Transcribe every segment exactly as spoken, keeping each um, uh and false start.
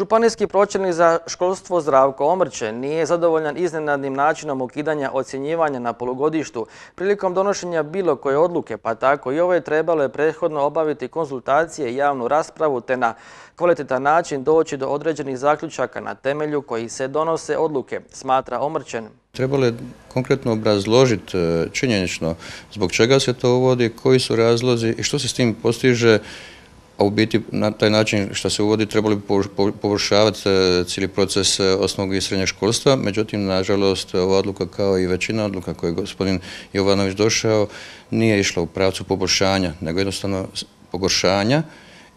Županijski pročelnik za školstvo Zdravko Omrčen nije zadovoljan iznenadnim načinom ukidanja ocjenjivanja na polugodištu. Prilikom donošenja bilo koje odluke, pa tako i ove, trebalo je prethodno obaviti konzultacije i javnu raspravu te na kvalitetan način doći do određenih zaključaka na temelju kojih se donose odluke, smatra Omrčen. Trebalo je konkretno obrazložiti činjenično zbog čega se to uvodi, koji su razlozi i što se s tim postiže. A u biti na taj način što se uvodi trebali bi poboljšavati cijeli proces osnovnog i srednjeg školstva. Međutim, nažalost, ova odluka kao i većina odluka koje je gospodin Jovanović došao nije išla u pravcu poboljšanja, nego jednostavno pogoršanja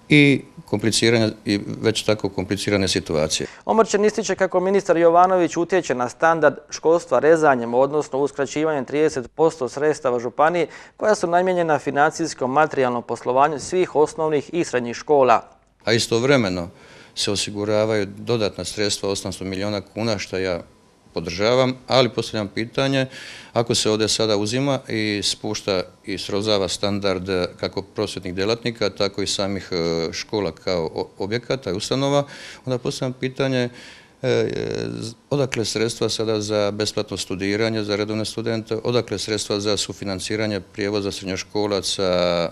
i kompliciranja i već tako komplicirane situacije. Omrčen ističe kako ministar Jovanović utječe na standard školstva rezanjem, odnosno uskraćivanjem trideset posto sredstava županije koja su namijenjena financijskom materijalnom poslovanju svih osnovnih i srednjih škola. A istovremeno se osiguravaju dodatna sredstva osamsto milijuna kuna, što ja podržavam, ali postavljam pitanje, ako se ovdje sada uzima i spušta i srozava standard kako prosvjetnih djelatnika, tako i samih škola kao objekata i ustanova, onda postavljam pitanje odakle sredstva sada za besplatno studiranje za redovne studente, odakle sredstva za sufinanciranje prijevoza srednjoškolaca,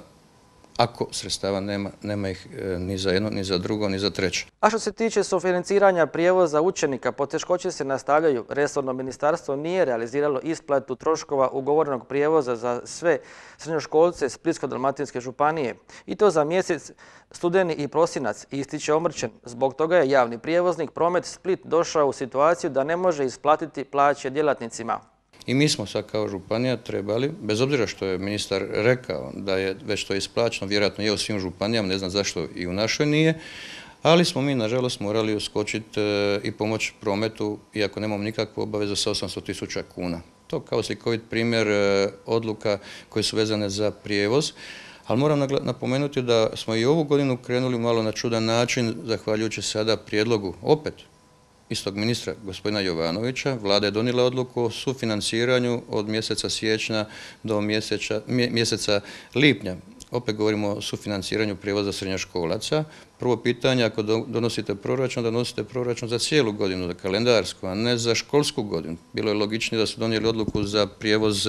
ako sredstava nema, nema ih ni za jedno, ni za drugo, ni za treće. A što se tiče sufinanciranja prijevoza učenika, poteškoće se nastavljaju. Resorno ministarstvo nije realiziralo isplatu troškova ugovorenog prijevoza za sve srednjoškolce Splitsko-dalmatinske županije. I to za mjesec studeni i prosinac, ističe Omrčen. Zbog toga je javni prijevoznik Promet Split došao u situaciju da ne može isplatiti plaće djelatnicima. I mi smo sad kao županija trebali, bez obzira što je ministar rekao da je već to isplaćeno, vjerojatno je u svim županijama, ne znam zašto i u našoj nije, ali smo mi nažalost morali uskočiti i pomoći prometu, iako nemamo nikakvu obavezu, sa osamsto tisuća kuna. To kao slikovit primjer odluka koje su vezane za prijevoz, ali moram napomenuti da smo i ovu godinu krenuli malo na čudan način, zahvaljujući sada prijedlogu opet istog ministra, gospodina Jovanovića. Vlada je donijela odluku o sufinanciranju od mjeseca siječnja do mjeseca, mjeseca lipnja. Opet govorimo o sufinanciranju prijevoza srednjoškolaca. Prvo pitanje, ako donosite proračun, donosite proračun za cijelu godinu, za kalendarsku, a ne za školsku godinu. Bilo je logičnije da su donijeli odluku za prijevoz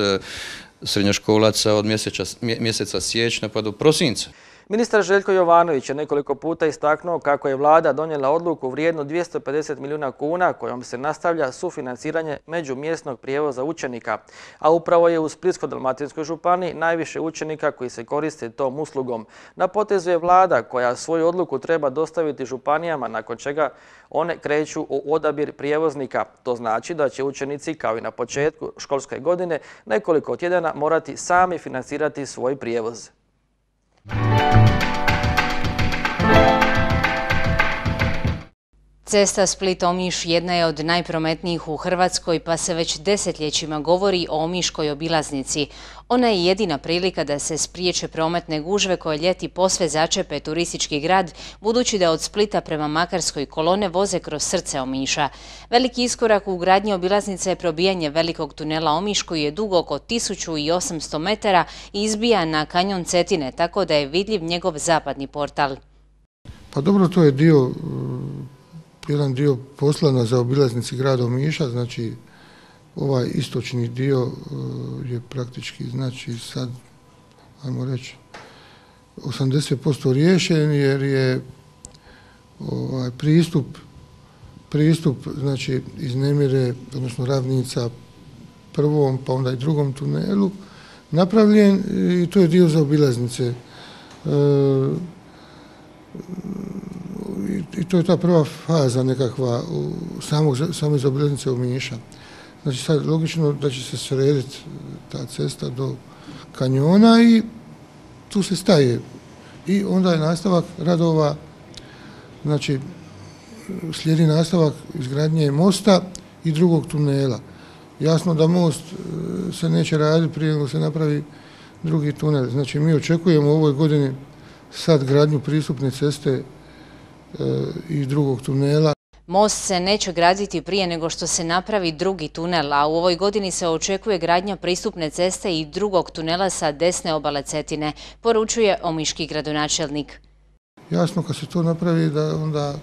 srednjoškolaca od mjeseca, mjeseca siječnja pa do prosinca. Ministar Željko Jovanović je nekoliko puta istaknuo kako je vlada donijela odluku vrijednu dvjesto pedeset milijuna kuna kojom se nastavlja sufinanciranje međumjesnog prijevoza učenika, a upravo je u Splitsko-dalmatinskoj županiji najviše učenika koji se koriste tom uslugom. Na potezu je vlada koja svoju odluku treba dostaviti županijama, nakon čega one kreću u odabir prijevoznika. To znači da će učenici, kao i na početku školske godine, nekoliko tjedana morati sami financirati svoj prijevoz. Cesta Split-Omiš jedna je od najprometnijih u Hrvatskoj, pa se već desetljećima govori o omiškoj obilaznici. Ona je jedina prilika da se spriječe prometne gužve koje ljeti posve začepe turistički grad, budući da od Splita prema Makarskoj kolone voze kroz srce Omiša. Veliki iskorak u gradnji obilaznice je probijanje velikog tunela Omiš koji je dug oko tisuću osamsto metara i izbija na kanjon Cetine, tako da je vidljiv njegov zapadni portal. Pa dobro, to je dio... jedan dio posla na zaobilaznici grada Omiša, znači ovaj istočni dio je praktički, znači sad, ajmo reći, osamdeset posto riješen jer je ovaj, pristup, pristup, znači iz Nemire, odnosno Ravnica prvom pa onda i drugom tunelu napravljen i to je dio zaobilaznice. E, I to je ta prva faza nekakva samog, same zaobilaznice Omiša. Znači sad logično da će se srediti ta cesta do kanjona i tu se staje. I onda je nastavak radova, znači slijedi nastavak izgradnje mosta i drugog tunela. Jasno da most se neće raditi prije nego se napravi drugi tunel. Znači mi očekujemo u ovoj godini sad gradnju pristupne ceste i drugog tunela. Most se neće graditi prije nego što se napravi drugi tunel, a u ovoj godini se očekuje gradnja pristupne ceste i drugog tunela sa desne obale Cetine, poručuje omiški gradonačelnik. Jasno, kad se to napravi, da onda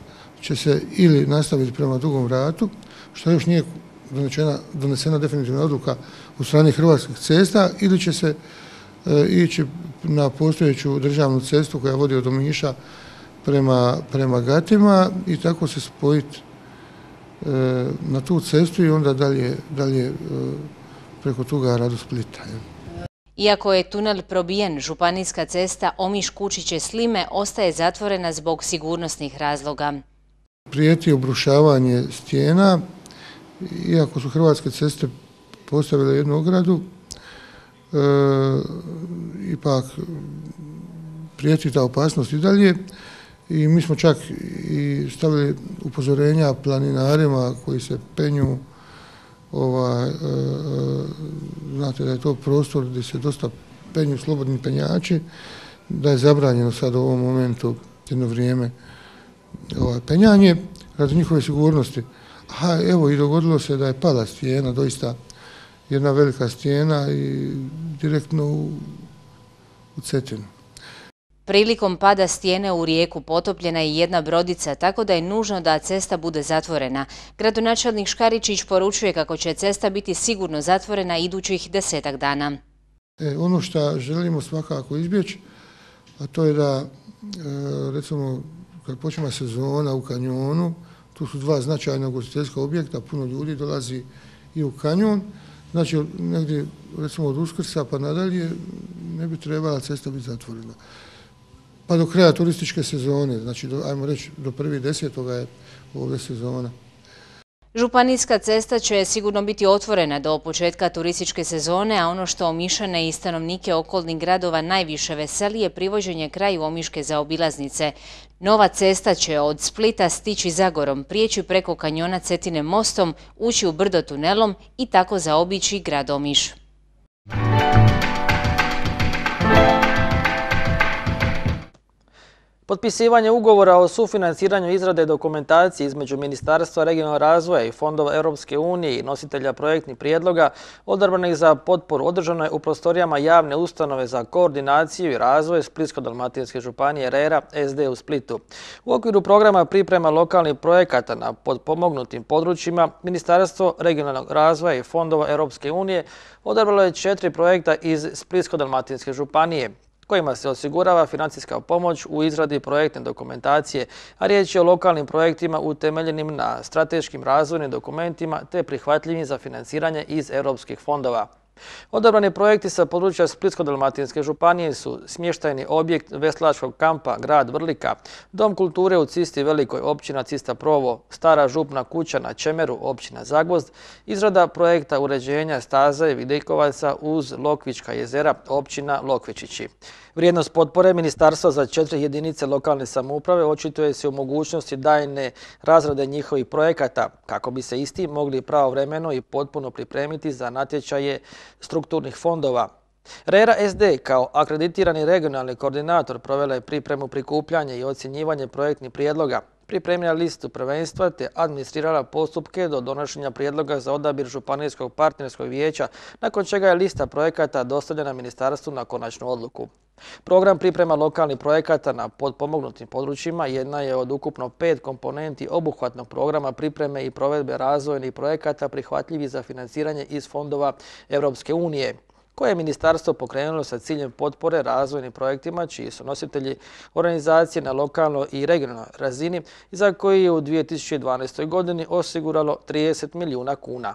će se ili nastaviti prema Dugom Ratu, što još nije donesena, donesena definitivna odluka u strani Hrvatskih cesta, ili će se e, ići na postojeću državnu cestu koja vodi od Omiša prema, prema Gatima i tako se spojiti e, na tu cestu i onda dalje, dalje e, preko Tugara do Splita. Je. Iako je tunel probijen, županijska cesta Omiš-Kučiće-Slime ostaje zatvorena zbog sigurnosnih razloga. Prijeti obrušavanje stijena, iako su Hrvatske ceste postavile jednu ogradu, e, ipak prijeti ta opasnost i dalje i mi smo čak i stavili upozorenja planinarima koji se penju. Ovaj, e, znate da je to prostor gdje se dosta penju slobodni penjači, da je zabranjeno sad u ovom momentu jedno vrijeme ovaj, penjanje radi njihove sigurnosti. A evo i dogodilo se da je pala stijena, doista jedna velika stijena i direktno u, u Cetinu. Prilikom pada stijene u rijeku potopljena je jedna brodica, tako da je nužno da cesta bude zatvorena. Gradonačelnik Škaričić poručuje kako će cesta biti sigurno zatvorena idućih desetak dana. E, ono što želimo svakako izbjeći, a to je da, e, recimo, kad počne sezona u kanjonu, tu su dva značajna ugostiteljska objekta, puno ljudi dolazi i u kanjon, znači negdje, recimo od Uskrsa pa nadalje, ne bi trebala cesta biti zatvorena. Pa do kraja turističke sezone, znači, do, ajmo reći, do prvi desetoga je ovdje sezona. Županijska cesta će sigurno biti otvorena do početka turističke sezone, a ono što Omišane i stanovnike okolnih gradova najviše veseli je privođenje kraju Omiške zaobilaznice. Nova cesta će od Splita stići Zagorom, prijeći preko kanjona Cetine mostom, ući u brdo tunelom i tako zaobići grad Omiš. Potpisivanje ugovora o sufinanciranju izrade dokumentacije između Ministarstva regionalnog razvoja i fondova Europske unije i nositelja projektnih prijedloga odabranih za potporu održano je u prostorijama javne ustanove za koordinaciju i razvoj Splitsko-dalmatinske županije R E R A S D u Splitu. U okviru programa priprema lokalnih projekata na potpomognutim područjima Ministarstvo regionalnog razvoja i fondova Europske unije odabralo je četiri projekta iz Splitsko-dalmatinske županije, kojima se osigurava financijska pomoć u izradi projektne dokumentacije, a riječ je o lokalnim projektima utemeljenim na strateškim razvojnim dokumentima te prihvatljivim za financiranje iz europskih fondova. Odabrani projekti sa područja Splitsko-dalmatinske županije su smještajni objekt veslačkog kampa Grad Vrlika, Dom kulture u Cisti Velikoj, općina Cista Provo, Stara župna kuća na Čemeru, općina Zagvozd, izrada projekta uređenja staze Videjkovaca uz Lokvička jezera, općina Lokvičići. Vrijednost potpore Ministarstva za četiri jedinice lokalne samouprave očituje se u mogućnosti daljne razrade njihovih projekata, kako bi se isti mogli pravovremeno i potpuno pripremiti za natječaje strukturnih fondova. R E R A S D kao akreditirani regionalni koordinator provela je pripremu prikupljanja i ocjenjivanje projektnih prijedloga, pripremila listu prvenstva te administrirala postupke do donošenja prijedloga za odabir Županijskog partnerskog vijeća, nakon čega je lista projekata dostavljena ministarstvu na konačnu odluku. Program priprema lokalnih projekata na potpomognutim područjima jedna je od ukupno pet komponenti obuhvatnog programa pripreme i provedbe razvojnih projekata prihvatljivih za financiranje iz fondova Europske unije, koje je ministarstvo pokrenulo sa ciljem potpore razvojnim projektima čiji su nositelji organizacije na lokalnoj i regionalnoj razini i za koji je u dvije tisuće dvanaestoj godini osiguralo trideset milijuna kuna.